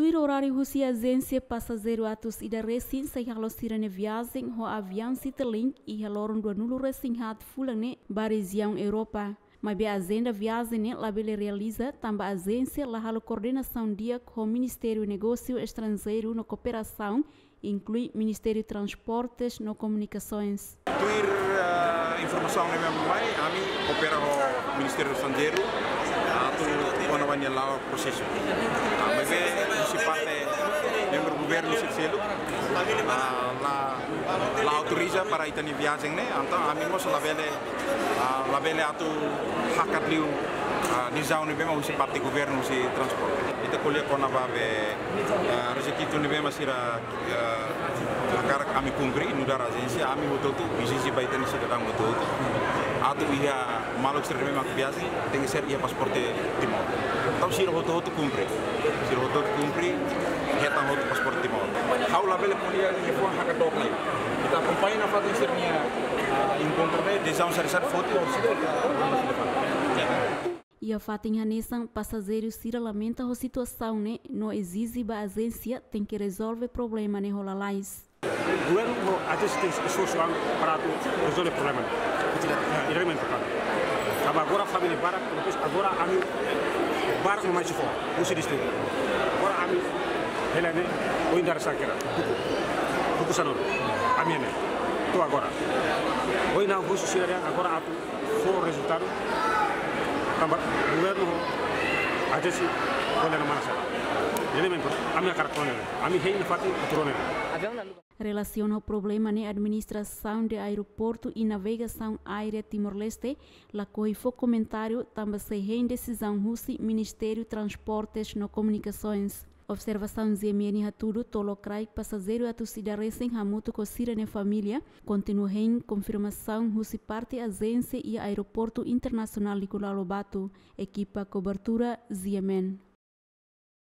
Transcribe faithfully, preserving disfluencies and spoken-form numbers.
Tuir oráriu husi ajénsia, pasajeiru atus ida resin sei halo sira-nia viajen ho aviaun Citilink iha loron dua nulu resin haat fulan ne'e ba rejiaun Europa. Maibé ajenda viajen ne'e labele realiza tanba ajénsia la halo koordenasaun di'ak ho Ministériu Negósiu Estranjeiru no Kooperasaun, inklui Ministériu Transportes no Komunikasoens. Tuir, eh, informasaun ne'ebé mai, ami koopera ho Ministériu Estranjeiru, ah, atu kona-ba nia la'o prosesu. Ah, maibé husi parte membru governu sira seluk, ah, la, la autoriza para ita-nia viajen ne'e, entaun ami mós labele, ah, labele atu hakat liu, ah, desizaun ne'ebé mak husi parte governu husi transporte. Ita ko'alia kona-ba be, ah, rekizitu ne'ebé mak sira, ah, hakarak ami kumpre, nu'udar ajénsia, ami hotu-hotu ezije ba ita-nia sidadaun hotu-hotu atu iha maluk sira ne'ebé mak viajen, tenke ser iha pasaporte Timor. Entaun sira hotu-hotu kumpre. Sira hotu-hotu kumpre, hetan hotu pasaporte Timor. Ha'u labele ko'alia liafuan hakat dook lai. Ita akompaña nafatin sira-nia, ah, enkontru ne'e, desizaun saida-saida foti, ou sira, iha fatin hanesan, pasajeiru sira lamenta ho situasaun ne'e no ezije ba ajénsia tenke rezolve problema ne'e ho lalais. Governu ho ajénsia tenke esforsu an para atu rezolve problema ne'e. Diretamente, claro. Tanba agora família barak, depois agora ami barak no mai sira fó, husi distritu. Agora ami hela ne'e, ohin dadauk sira kera, duku, duku sanulu, ami ne'e. To'o agora. Ohin ha'u husu sira dehan agora atu fó rezultadu, tanba governu ho ajénsia ko'alia manán sira. Jadi memang ami hakarak rona ne'e, ami hein nafatin atu rona ne'e. Relasiona ho problema ne'e, Administrasaun de Aeroportu i Navegasaun Aérea Timor-Leste lakohi fó komentáriu tanba sei hein desizaun husi Ministériu Transportes no Komunikasoens. Observasaun G M N hatudu to'o lokraik pasajeiru atus ida resin hamutuk ho sira-nia família kontinua hein konfirmasaun husi parte ajénsia iha Aeroportu Internasionál Nicolau Lobato. Ekipa kobertura G M N.